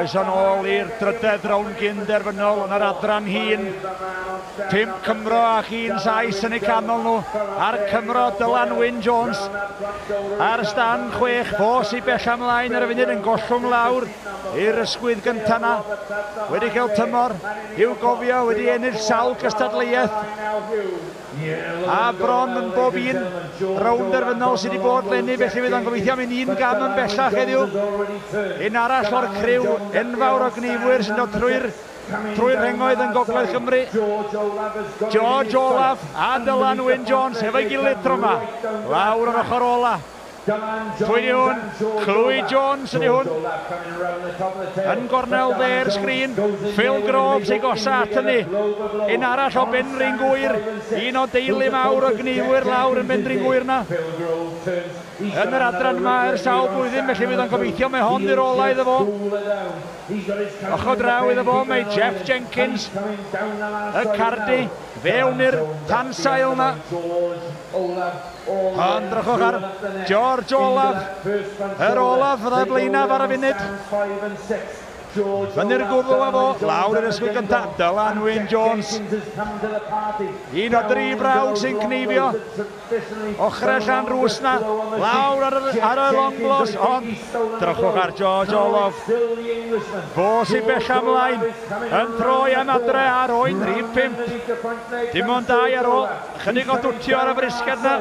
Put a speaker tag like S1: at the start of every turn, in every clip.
S1: Croeso nôl i'r drydedd rownd gyn-derfynol yn yr adran hŷn. 5 Cymro ac 1 Sais yn eu canol nhw. A'r Cymro Dylan Wyn Jones ar stand 6. Fo sy'n bell ymlaen ar y funud yn gollwng lawr i'r ysgwydd gyntaf na. Wedi cael tymor i'w gofio, wedi ennill sawl cystadleuaeth. A bron yn bob un rownd derfynol sydd wedi bod 'leni, felly fydd o'n gobeithio mynd un gam yn bellach heddiw. Un arall o'r criw enfawr o gneifwyr sy'n dod trwy'r trwy'r rhengoedd yn Gogledd Cymru. George Olaf a Dylan Wyn Jones efo'i gilydd tro yma. Lawr yr ochr ola. Pwy di hwn? Clwyd Jones ydy hwn. Yn gornel dde'r sgrin. Phil Groves ei gosa at hynny. Un arall o Benrhyn Gŵyr. Un o deulu mawr o gneifwyr lawr yn Benrhyn Gŵyr na. Yn yr adran yma ers sawl blwyddyn, felly fydd o'n gobeithio mae hon i'r ola iddo fo. Ochr draw iddo fo mae Jeff Jenkins, y Cardi, fewn i'r tansail na. Ond drychwch ar George Olaf, yr olaf fydda blaenaf ar y funud. Fyny'r gwddw â fo, lawr i'r ysgwydd gyntaf, Dylan Wyn Jones. Un o dri brawd sy'n cneifio. Ochrau Llanrwst na, lawr ar y, ar y long blows, ond drychwch ar George Olaf. Fo sy'n bell ymlaen, yn troi am adre ar oen rhif 5. Dim ond 2 ar ôl, chydig o dwtio ar y frisged na.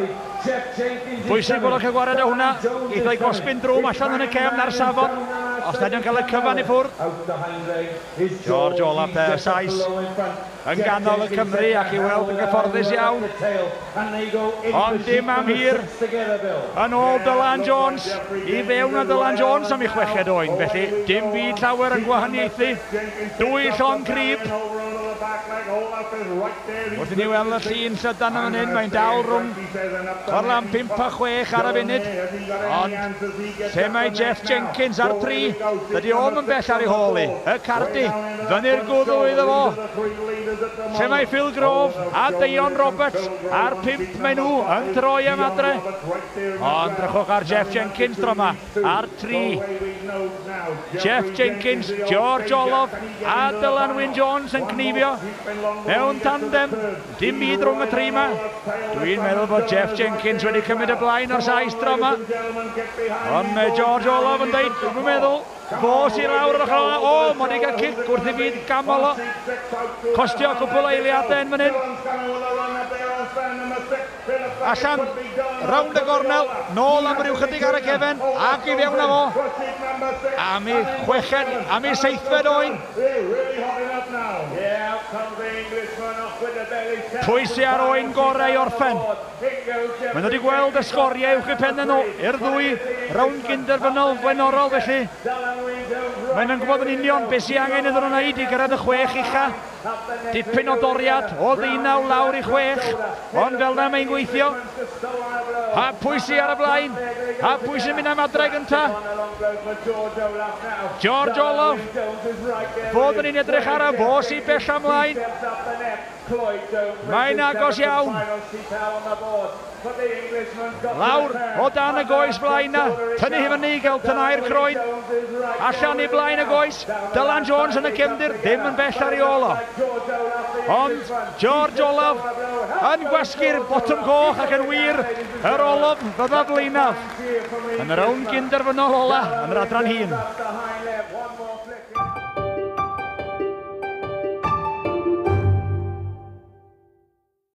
S1: Bwysig bod o'n cael gwared o hwnna. Geith o'i gosbi'n drwm allan yn y cefn ar safon. Os nad yw'n cael y cyfan i ffwrdd. George Olaf de, y Sais, yn ganol y Cymru ac i weld yn gyfforddus iawn. Ond dim am hir. Yn ôl Dylan Jones, i fewn â Dylan Jones am ei chweched oen. Felly dim byd llawer yn gwahaniaethu. Dwy llon crib. Wrth i ni weld y llun llydan yn fan hyn, mae'n dal rhwng corlan 5 a 6 ar y funud. Ond lle mae Jeff Jenkins ar 3? Dydy o'm yn bell ar ei hôl i. Y Cardi, fyny'r gwddw iddo fo. Lle mae Phil Grove a Deion Roberts ar 5 maen nhw yn troi am adre. Ond drychwch ar Jeff Jenkins tro yma, ar 3. Jeff Jenkins, George Olof a Dylan Wyn Jones yn cneifio mewn tandem. Dim byd rhwng y tri yma. Dwi'n meddwl bod Jeff Jenkins wedi cymryd y blaen o'r Sais tro yma. Ond mae George Olof yn dweud, dwi'n meddwl, fo sy'n lawr yr ochr ola. O, mae wedi cael cic wrth i fyd gamol o. Costio cwpl o eiliadau yn fan hyn. Allan, rownd y gornel, nôl am ryw chydig ar y cefen, ac i fewn â fo. Am ei chweched, am ei seithfed oen. Pwy sy ar oen gorau i orffen? Maen nhw wedi gweld y sgoriau uwch eu pennau nhw i'r ddwy rownd gynderfynol flaenorol, felly maen nhw'n gwybod yn union beth sy'n angen iddyn nhw wneud i gyrraedd y 6 ucha. Dipyn o doriad o ddeunaw lawr i 6, ond fel na mae'n gweithio. A pwy sy ar y blaen? A pwy sy'n mynd am adre gynta? George Olof. Fod yn un edrych ar y fo sy'n bell ymlaen. Mae'n agos iawn. Lawr o dan y goes flaen na. Tynnu hi fyny i gael tynau'r croen. Allan i blaen y goes. Dylan Jones yn y cefndir, ddim yn bell ar ei ôl o. Ond George Olaf yn gwasgu'r botwm coch ac yn wir yr Olof fydda flaenaf yn y rownd gynderfynol ola yn yr adran hŷn.